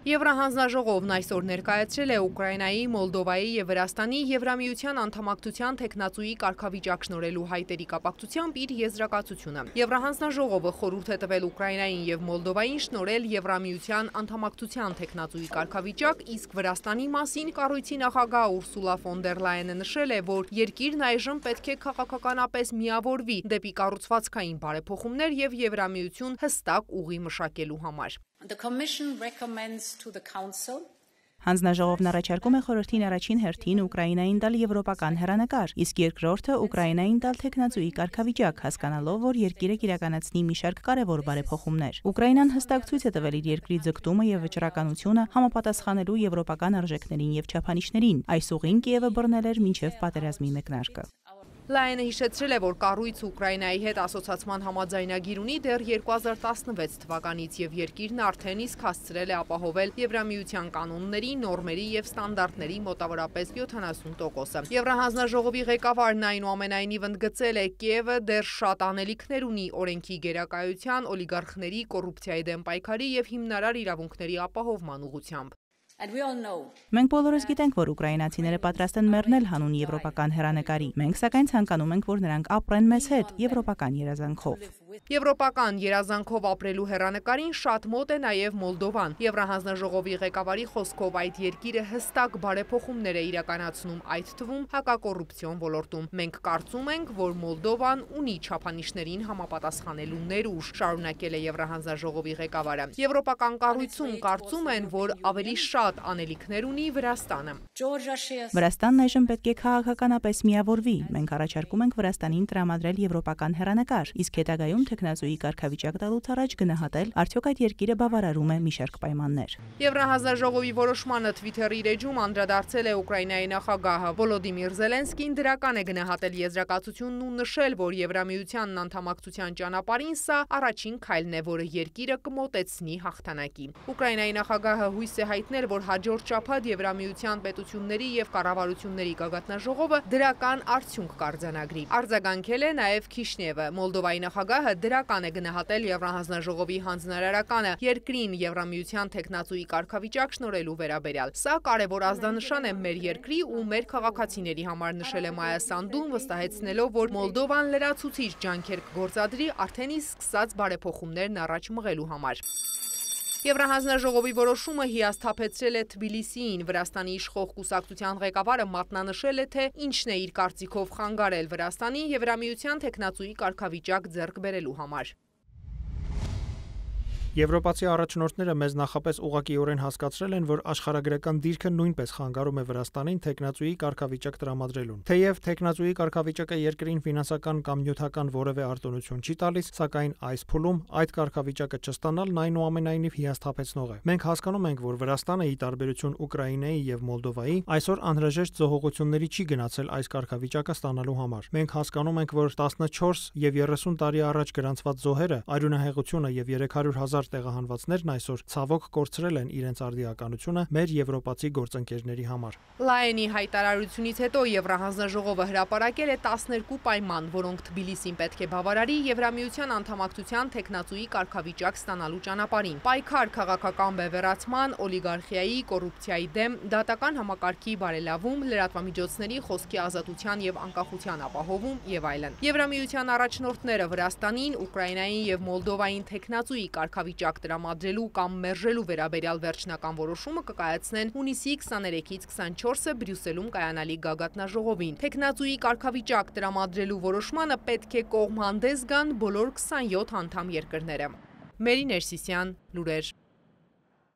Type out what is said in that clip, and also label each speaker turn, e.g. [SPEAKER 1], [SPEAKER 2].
[SPEAKER 1] Եվրահանձնաժողովն այսօր ներկայացրել է Ուկրաինայի, Մոլդովայի և Վրաստանի Եվրամիության անդամակցության թեկնածուի կարգավիճակ շնորհելու հայտերի կապակցությամբ իր եզրակացությունը։ Եվրահանձնաժողովը խորհուրդ է տվել Ուկրաինային և Մոլդովային շնորհել Եվրամիության անդամակցության թեկնածուի կարգավիճակ, իսկ Վրաստանի մասին կառույցի նախագահ Ուրսուլա ֆոն դեր Լայենը նշել է, որ երկիրն այժմ պետք է քաղաքականապես միավորվի դեպի կառուցվածքային բարեփոխումներ և Եվրամիություն հստակ ուղի մշակելու համար։
[SPEAKER 2] Հանձնաժողովն առաջարկում է խորհրդին առաջին հերթին Ուկրաինային տալ եվրոպական հեռանկար, իսկ երկրորդը Ուկրաինային տալ թեկնածուի կարգավիճակ, հասկանալով, որ երկիրը կիրականացնի մի շարք կարևոր բարեփոխումներ։ Ուկրաինան հստակ ցույց է տվել իր երկրի ձգտումը եւ վճռականությունը համապատասխանելու եվրոպական արժեքներին եւ չափանիշներին։ Այս ուղին Կիևը բռնել էր մինչեւ պատերազմի մեկնարկը։
[SPEAKER 1] Լայենը հիշեցրել է, որ կառույցը Ուկրաինայի հետ ասոցացման համաձայնագիր ունի դեռ 2016 թվականից և երկիրն արդեն իսկ հասցրել է ապահովել Եվրամիության կանոնների, նորմերի և ստանդարտների մոտավորապես 70%-ը։ Եվրահանձնաժողովի ղեկավարն այնուամենայնիվ ընդգծել է, Կիևը դեռ շատ անելիքներ ունի օրենքի գերակայության, օլիգարխների, կոռուպցիայի դեմ պայքարի և հիմնարար իրավունքների ապահովման ուղղությամբ։
[SPEAKER 2] Մենք բոլորս գիտենք, որ ուկրաինացիները պատրաստ են մեռնել հանուն եվրոպական հեռանկարի։ Մենք սակայն ցանկանում ենք, որ նրանք ապրեն մեզ հետ եվրոպական երազանքով։
[SPEAKER 1] Եվրոպական երազանքով ապրելու հեռանկարին շատ մոտ է նաև Մոլդովան։ Եվրահանձնաժողովի ղեկավարի խոսքով այդ երկիրը հստակ բարեփոխումներ է իրականացնում, այդ թվում հակակոռուպցիոն ոլորտում։ Մենք կարծում ենք, որ Մոլդովան ունի չափանիշներին համապատասխանելու ներուժ, շարունակել է Եվրահանձնաժողովի ղեկավարը։ Եվրոպական կառույցում կարծում են, որ ավելի շատ անելիքներ ունի Վրաստանը։
[SPEAKER 2] Վրաստանն այժմ պետք է քաղաքականապես միավորվի։ Մենք առաջարկում ենք Վրաստանին տրամադրել եվրոպական հեռանկար, իսկ հետագայում թեկնածուի կարգավիճակ տալուց առաջ գնահատել, արդյոք այդ երկիրը բավարարում է մի շարք պայմաններ։
[SPEAKER 1] Եվրահանձնաժողովի որոշմանը Twitter-ի իր էջում անդրադարձել է Ուկրաինայի նախագահը Վոլոդիմիր Զելենսկին դրական է գնահատել եզրակացությունն ու նշել, որ Եվրամիությանն անդամակցության ճանապարհին սա առաջին քայլն է, որը երկիրը կմոտեցնի հաղթանակի։ Ուկրաինայի նախագահը հույս է հայտնել, որ հաջորդ շաբաթ Եվրամիության պետությունների և կառավարությունների գագաթնաժողովը դրական արդյունք կարձանագրի։ Արձագանքել է նաև Քիշնևը։ Մոլդովայի նախագահը դրական է գնահատել Եվրահանձնաժողովի հանձնարարականը երկրին Եվրամիության թեկնածուի կարգավիճակ շնորհելու վերաբերյալ։ Սա կարևոր ազդանշան է մեր երկրի ու մեր քաղաքացիների համար, նշել է Մայա Սանդուն, վստահեցնելով, որ Մոլդովան լրացուցիչ ջանքեր կգործադրի արդեն իսկ սկսած բարեփոխումներն առաջ մղելու համար։ Եվրահանձնաժողովի որոշումը հիասթափեցրել է Թբիլիսիին։ Վրաստանի իշխող կուսակցության ղեկավարը մատնանշել է, թե ինչն է իր կարծիքով խանգարել Վրաստանի Եվրամիության թեկնածուի կարգավիճակ ձեռք բերելու համար։
[SPEAKER 3] Եվրոպացի առաջնորդները մեզ նախապես ուղղակիորեն հասկացրել են, որ աշխարհագրական դիրքը նույնպես խանգարում է Վրաստանին թեկնածուի կարգավիճակ տրամադրելուն։ Թեև թեկնածուի կարգավիճակը երկրին ֆինանսական կամ նյութական որևէ արտոնություն չի տալիս, սակայն այս փուլում այդ կարգավիճակը չստանալն այնուամենայնիվ հիասթափեցնող է։ Մենք հասկանում ենք, որ Վրաստանը, ի տարբերություն Ուկրաինայի եւ Մոլդովայի, այսօր անհրաժեշտ զոհողությունների չի գնացել այս կարգավիճակը ստանալու համար։ Մենք հասկանում ենք, որ 14 եւ 30 տարի առաջ գրանցված զոհերը, արյունահեղությունը եւ 300,000 տեղահանվածներն այսօր ցավոք կորցրել են իրենց արդիականությունը մեր եվրոպացի գործընկերների համար։
[SPEAKER 1] Լայենի հայտարարությունից հետո Եվրահանձնաժողովը հրապարակել է 12 պայման, որոնք Թբիլիսին պետք է բավարարի Եվրամիության անդամակցության թեկնածուի կարգավիճակ ստանալու ճանապարհին։ Պայքար քաղաքական բևեռացման, օլիգարխիայի, կոռուպցիայի դեմ, դատական համակարգի բարելավում, լրատվամիջոցների խոսքի ազատության եւ անկախության ապահովում եւ այլն։ Եվրամիության առաջնորդները Վրաստանին, Ուկրաինային եւ Մոլդովային թեկնածուի կարգավիճակ տրամադրելու կամ մերժելու վերաբերյալ վերջնական որոշումը կկայացնեն հունիսի 23-ից 24-ը Բրյուսելում կայանալի գագաթնաժողովին։ Թեկնածուի կարգավիճակ տրամադրելու որոշմանը պետք է կողմ հանդես գան բոլոր 27 անդամ երկրները։ Մերի Ներսիսյան, լուրեր։